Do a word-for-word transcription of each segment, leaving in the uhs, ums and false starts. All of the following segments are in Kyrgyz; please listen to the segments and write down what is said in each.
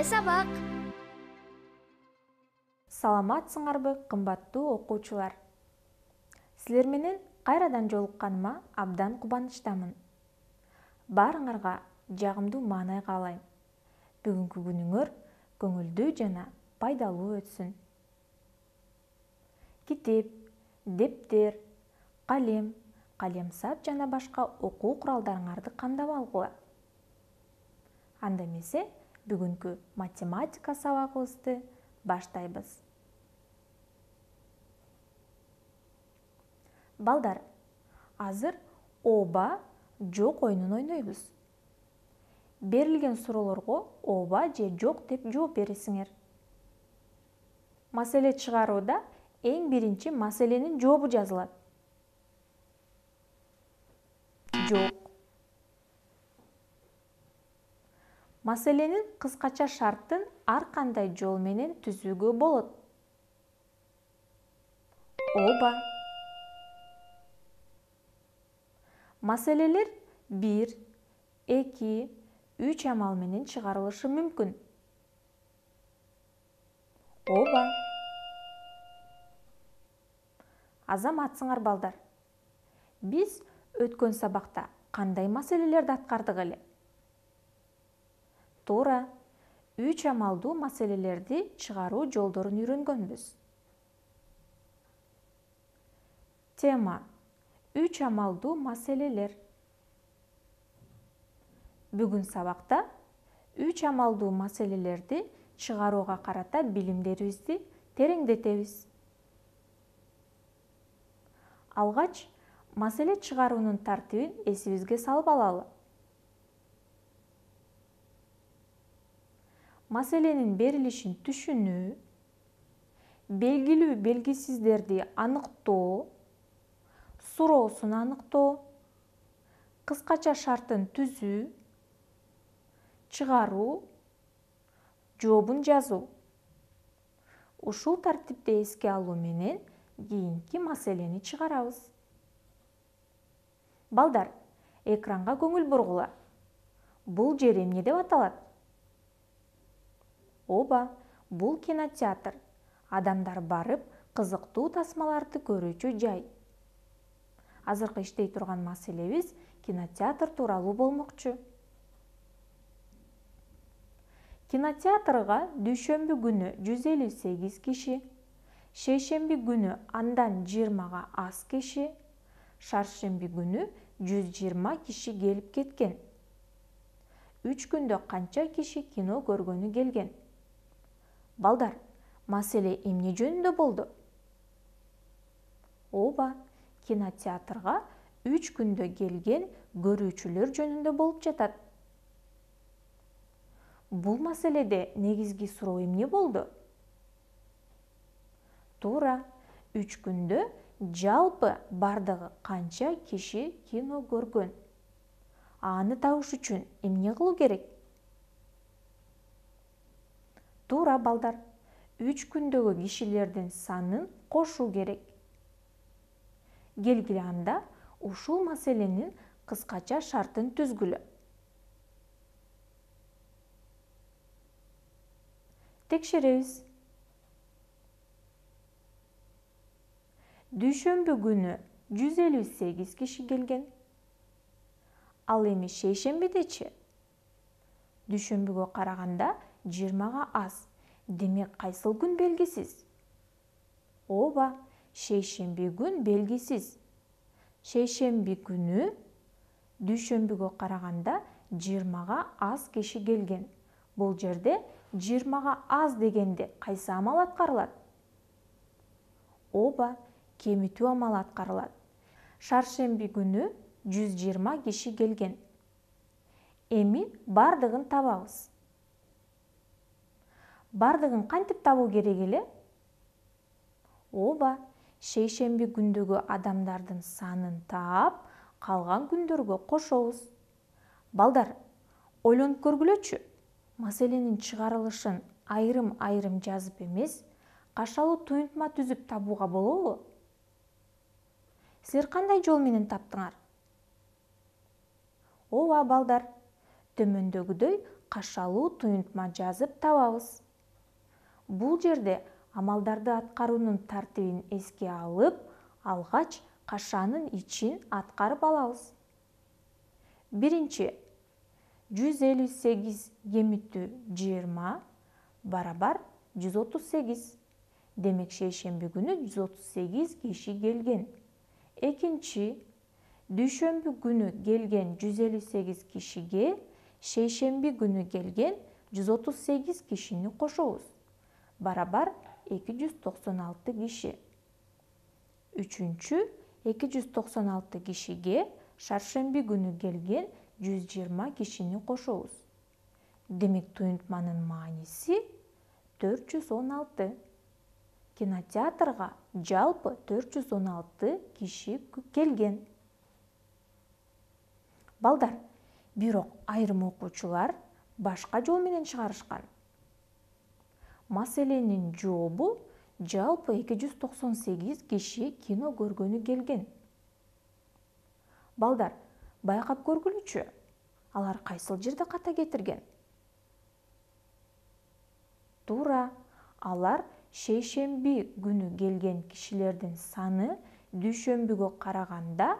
сабак. Саламатсыңарбы, кымбаттуу окуучулар? Силер менен кайрадан жолукканыма абдан кубанычтамын. Баарыңарга жагымдуу маанай каалайм. Бүгүнкү күнүңөр көңүлдүү жана пайдалуу өтсүн. Китеп, дептер, калем, калемсап жана башка окуу куралдарыңарды камдап алгыла. Анда эмесе, бүгүнкү математика сабагыбызды баштайбыз. Балдар, азыр ооба, жок оюнун ойнойбуз. Берилген суроолорго ооба же жок деп жооп бересиңер. Маселе чыгарууда эң биринчи маселенин жообу жазылат. Жок. Маселенин кыскача шарттын ар кандай жол менен түзүүгө болот. Ооба. Маселелер бир, эки, үч амал менен чыгарылышы мүмкүн. Ооба. Азаматсыңар балдар. Биз өткөн сабакта кандай маселелерди аткардык эле? Туура, үч амалдуу маселелерди чыгаруу жолдорун үйрөнгөнбүз. Тема: үч амалдуу маселелер. Бүгүн сабакта үч амалдуу маселелерди чыгарууга карата билимдерибизди тереңдетебиз. Алгач, маселе чыгаруунун тартибин эсибизге салып алалы. Маселенин берилишин түшүнүү, белгилүү белгисиздерди аныктоо, суроосун аныктоо, кыскача шартын түзүү, чыгаруу, жообун жазуу. Ушул тартипти эске алуу менен кийинки маселени чыгарабыз. Балдар, экранга көңүл бургула. Бул жер эмне деп аталат? Ооба, бул кинотеатр. Адамдар барып, кызыктуу тасмаларды көрүүчү жай. Азыркы иштей турган маселебиз кинотеатр тууралуу болмокчу. Кинотеатрга дүйшөмбү күнү жүз элүү сегиз киши, шейшемби күнү андан жыйырмага аз киши, шаршемби күнү жүз жыйырма киши келип кеткен. Үч күндө канча киши кино көргөнү келген? Балдар, маселе эмне жөнүндө болду? Ооба, кинотеатрга үч күндө келген көрүүчүлөр жөнүндө болуп жатат. Бул маселеде негизги суроо эмне болду? Туура, үч күндө жалпы бардыгы канча киши кино көргөн? Аны табыш үчүн эмне кылуу керек? Туура балдар, үч күндөгү кишилердин санын кошуу керек. Келгиле анда ушул маселенин кыскача шартын түзгүлө. Текшеребиз. Дүйшөмбү күнү жүз элүү сегиз киши келген. Ал эми шейшембидечи? Дүйшөмбүгө караганда жыйырмага аз. Демек кайсыл күн белгисиз? Ооба, шейшемби күн белгисиз. Шейшемби күнү дүйшөмбүгө караганда жыйырмага аз киши келген. Бул жерде жыйырмага аз дегенде кайсы амал аткарылат? Ооба, кемитүү амалы аткарылат. Шаршемби күнү жүз жыйырма киши келген. Эми бардыгын табабыз. Бардыгын кантип табуу керек эле? Ооба, шейшемби күндөгү адамдардын санын таап, калган күндөргө кошобуз. Балдар, ойлонуп көргүлөчү. Маселенин чыгарылышын айрым-айрым жазып эмес, кашалуу туюнтма түзүп табууга болобу? Силер кандай жол менен таптыңар? Ооба балдар, төмөндөгүдөй кашалуу туюнтма жазып табабыз. Бул жерде амалдарды аткаруунун тартибин эске алып, алгач кашанын ичин аткарып алабыз. Биринчи, жүз элүү сегиз кемитүү жыйырма барабар жүз отуз сегиз. Демек шейшемби күнү жүз отуз сегиз киши келген. Экинчи, дүйшөмбү күнү келген жүз элүү сегиз кишиге шейшемби күнү келген жүз отуз сегиз кишини кошобуз. Барабар эки жүз токсон алты киши. Үчүнчү, эки жүз токсон алты кишиге шаршемби күнү келген жүз жыйырма кишини кошобуз. Демек туюнтманын мааниси төрт жүз он алты. Кинотеатрга жалпы төрт жүз он алты киши келген. Балдар, бирок айрым окуучулар башка жол менен чыгарышкан. Маселенин жообу жалпы эки жүз токсон сегиз киши кино көргөнү келген. Балдар, байкап көргүлүчү, алар кайсыл жерде ката кетирген? Туура, алар шейшемби күнү келген кишилердин саны дүйшөмбүгө караганда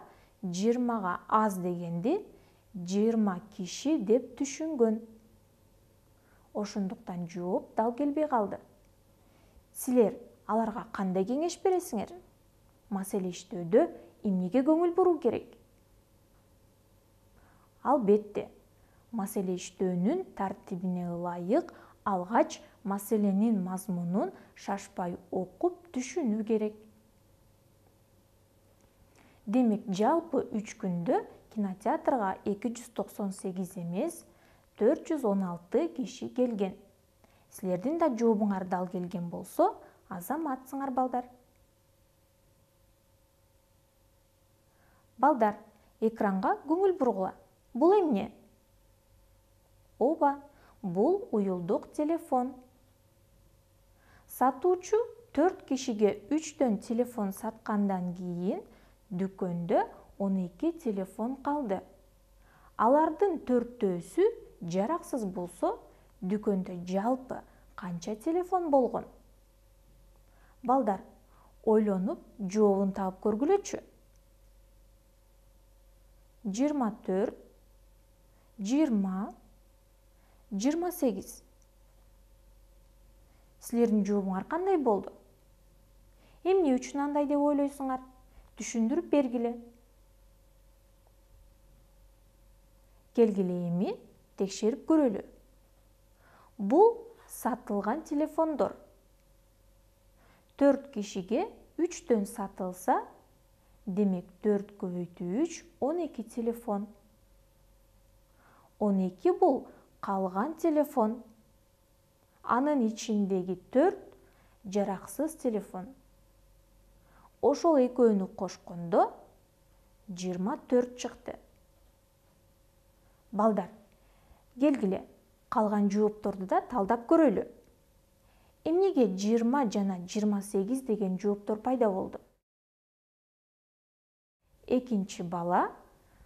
жыйырмага аз дегенди жыйырма киши деп түшүнгөн. Ошондуктан жооп дал келбей калды. Силер аларга кандай кеңеш бересиңер? Маселе иштөөдө эмнеге көңүл буруу керек? Албетте, маселе иштөөнүн тартибине ылайык алгач маселенин мазмунун шашпай окуп түшүнүү керек. Демек, жалпы үч күндө кинотеатрга эки жүз токсон сегиз эмес, төрт жүз он алты киши келген. Силердин да жообуңар дал келген болсо, азаматсыңар балдар. Балдар, экранга көңүл бургула. Бул эмне? Ооба, бул уюлдук телефон. Сатуучу төрт кишиге үчтөн телефон саткандан кийин дүкөндө он эки телефон калды. Алардын төртөөсү жараксыз болсо, дүкөндө жалпы канча телефон болгон? Балдар, ойлонуп жообун таап көргүлөчү. жыйырма төрт, жыйырма, жыйырма сегиз. Силердин жообуңар кандай болду? Эмне үчүн андай деп ойлойсуңар? Түшүндүрүп бергиле. Келгиле эми текшерип көрөлү. Бул сатылган телефондор. төрт кишиге үчтөн сатылса, демек төрт көбөйтүү үч он эки телефон. он эки бул калган телефон. Анын ичиндеги төрт жараксыз телефон. Ошол экөөнү кошкондо жыйырма төрт чыкты. Балдар, келгиле, калган жоопторду да талдап көрөлү. Эмнеге жыйырма жана жыйырма сегиз деген жооптор пайда болду? Экинчи бала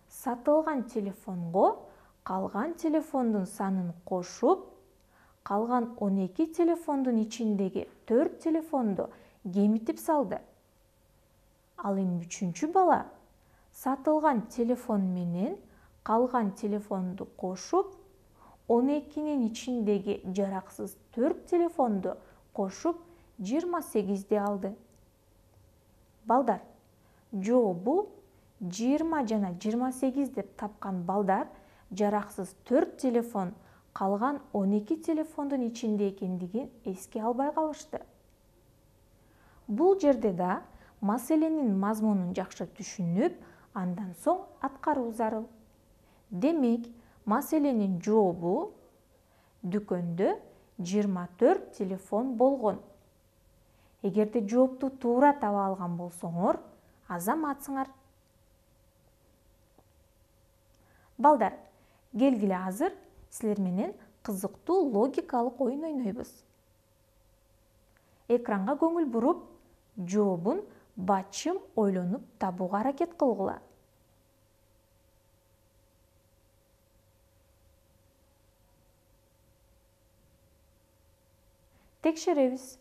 сатылган телефонго калган телефондун санын кошуп, калган он эки телефондун ичиндеги төрт телефонду кемитип салды. Ал эми үчүнчү бала сатылган телефон менен калган телефонду кошуп, он экинин ичиндеги жараксыз төрт телефонду кошуп жыйырма сегизди алды. Балдар, жообу жыйырма жана жыйырма сегиз деп тапкан балдар жараксыз төрт телефон калган он эки телефондун ичинде экендигин эске албай калышты. Бул жерде да маселенин мазмунун жакшы түшүнүп, андан соң аткаруу зарыл. Демек, маселенин жообу дүкөндө жыйырма төрт телефон болгон. Эгерде жоопту туура таба алган болсоңор, азаматсыңар. Балдар, келгиле азыр силер менен кызыктуу логикалык оюн ойнойбуз. Экранга көңүл буруп, жообун бачым ойлонуп табууга аракет кылгыла. текшеребиз.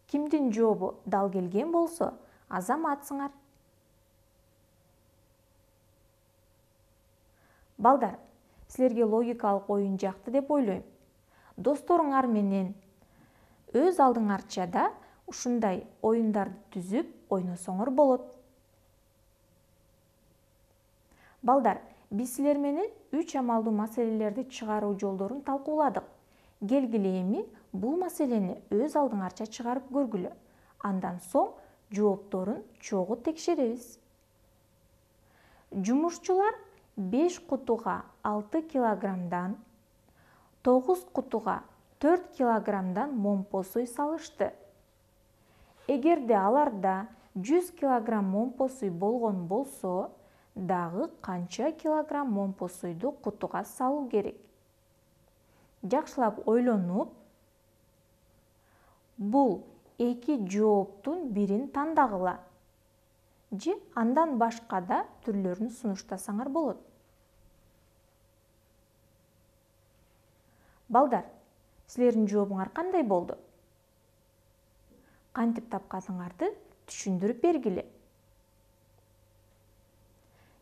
Кимдин жообу дал келген болсо, азаматсыңар. Балдар, силерге логикалык оюн жакты деп ойлойм. Досторуңар менен өз алдыңарча да ушундай оюндарды түзүп ойносоңор болот. Балдар, биз силер менен үч амалдуу маселелерди чыгаруу жолдорун талкууладык. Келгиле эми бул маселени өз алдыңарча чыгарып көргүлө. Андан соң жоопторун чогуу текшеребиз. Жумушчулар беш кутуга алты килограммдан, тогуз кутуга төрт килограммдан момпо суй салышты. Эгерде аларда жүз килограмм момпо суй болгон болсо, дагы канча килограмм момпо суйду кутуга салуу керек? Жакшылап ойлонуп, бул эки жооптун бирин тандагыла, же андан башка да түрлөрүн сунуштасаңар болот. Балдар, силердин жообуңар кандай болду? Кантип тапканыңарды түшүндүрүп бергиле.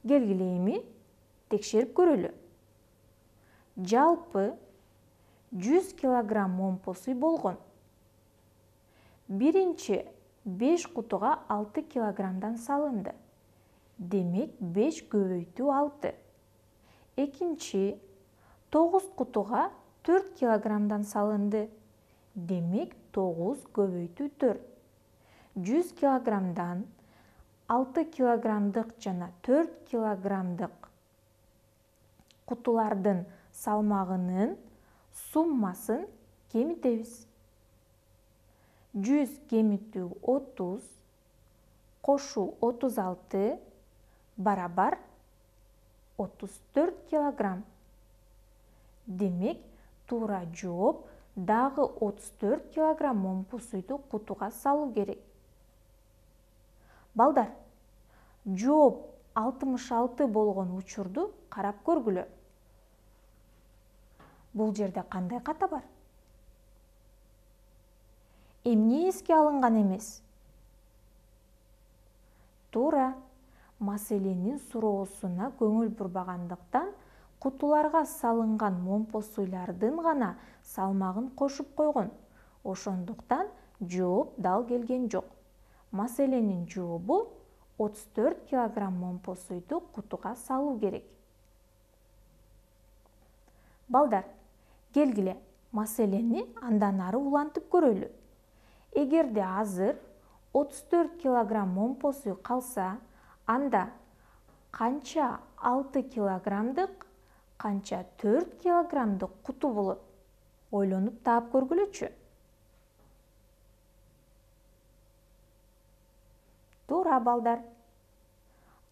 Келгиле эми текшерип көрөлү. Жалпы жүз килограмм момпо суй болгон. Биринчи беш кутуга алты килограммдан салынды. Демек беш көбөйтүү алты. Экинчи тогуз кутуга төрт килограммдан салынды. Демек тогуз көбөйтүү төрт. жүз килограммдан алты килограммдык жана төрт килограммдык кутулардын салмагынын суммасын кемитебиз. жүз кемитүү отуз, кошуу отуз алты барабар отуз төрт килограмм. Демек туура жооп дагы отуз төрт килограмм момпо суйду кутуга салуу керек. Балдар, жооп алтымыш алты болгон учурду карап көргүлө. Бул жерде кандай ката бар? Эмне эске алынган эмес? Туура, маселенин суроосуна көңүл бурбагандыктан кутуларга салынган момпо суйлардын гана салмагын кошуп койгон. Ошондуктан жооп дал келген жок. Маселенин жообу отуз төрт килограмм момпо суйду кутуга салуу керек. Балдар, келгиле маселени андан ары улантып көрөлү. Эгерде азыр отуз төрт килограмм момпо суй калса, анда канча алты килограммдык, канча төрт килограммдык куту болот? Ойлонуп таап көргүлөчү. Туура, балдар.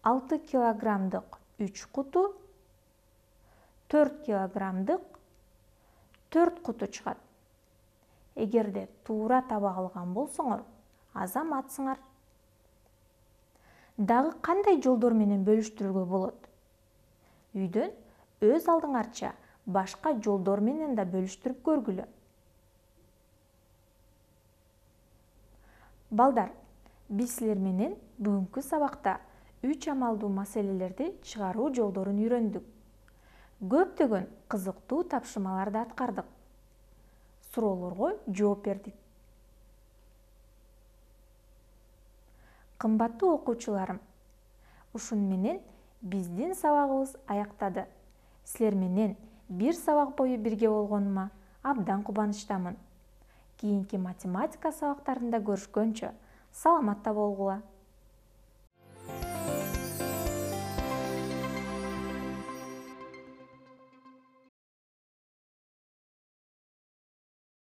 алты килограммдык үч куту, төрт килограммдык төрт куту чыгат. Эгерде туура таба алган болсоңор, азаматсыңар. Дагы кандай жолдор менен бөлүштүрүүгө болот? Үйдөн өз алдыңарча башка жолдор менен да бөлүштүрүп көргүлө. Балдар, биз силер менен бүгүнкү сабакта үч амалдуу маселелерди чыгаруу жолдорун үйрөндүк. Көптөгөн кызыктуу тапшырмаларды аткардык. Суроолорго жооп бердик. Кымбаттуу окуучуларым, ушун менен биздин сабагыбыз аяктады. Силер менен бир сабак бою бирге болгонума абдан кубанычтамын. Кийинки математика сабактарында көрүшкөнчө саламатта болгула.